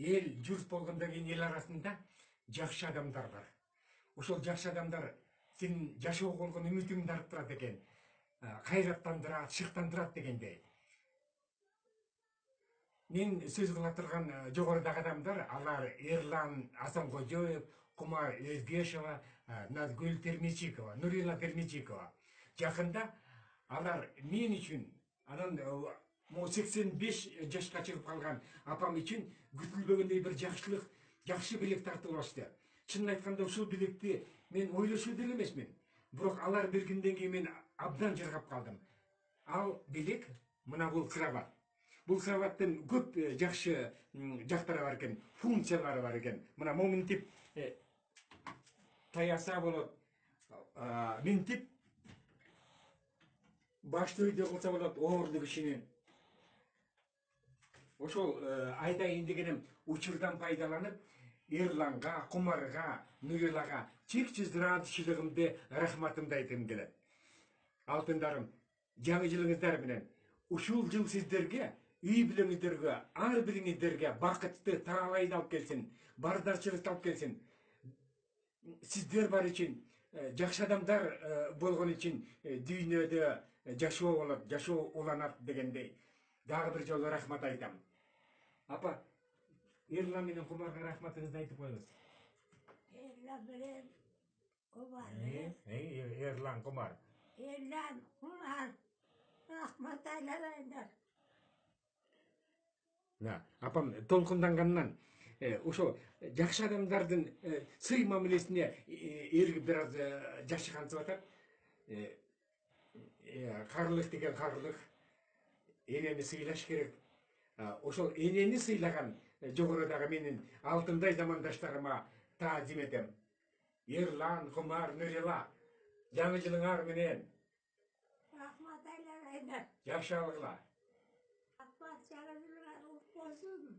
эл журт болгондон кийин эл арасында жакшы адамдар бар. Ошол жакшы адамдар сенин жашоого болгон үмүтүңдү арттырат экен, кайраттандырат, шыктандырат дегендей. Мен сөз кыла турган жогорудагы адамдар, алар Эрлан Асанкожоев, Кумар Өзгешова, Назгүл Термичикова, Нурила Термичикова. Жакында алар мен үчүн, анан 85 жашка чыгып калган апам үчүн күтүлбөгөндөй бир жакшылык, жакшы белек тартып алышты. Чынын айтканда ушул белекти мен ойлошуу деле эмесмин. Бирок алар бергенден кийин мен абдан жыргап калдым. Ал белек мына бул кровать. Бул кроваттын көп жакшы жактары бар экен, функциялары бар экен. Мына моминтип таяса болот, минтип башты өйдө кылса болот, оорлук ишинин. Ошол айтайын дегеним, учурдан пайдаланып, Эрланга, Кумарга, Нурилага чексиз ыраазычылыгымды, рахматымды айткым келет. Алтындарым, жаңы жылыңыздар менен ушул жыл сиздерге, үй бүлөңүздөргө, ар бириңиздерге бакытты, таалайды алып келсин, бардачылыкты алып келсин. Сиздер бар үчүн, жакшы адамдар болгон үчүн дүйнөдө жашоо болот, жашоо уланат дегендей. Дагы бир жолу рахмат айтам. Апа, Эрлан менен Кумарга рахматыңызды айтып коюңуз. Эрлан менен Кумар. Эрлан, Кумар. Эрлан, Кумар. Рахмат айланайындар. Апам толкундангандан ошо жакшы адамдардын сый мамилесине эргип бир аз жашы кантип атат. Карлык деген карлык. Энени сыйлаш керек. Ошол энени сыйлаган жогорудагы менин алтындай замандаштарыма таазим этем. Эрлан, Кумар, Нурила, жаңы жылыңар менен. Рахмат айланайындар. Жакшы алгыла. Рахмат, жаңы жылыңар кутlu болсун.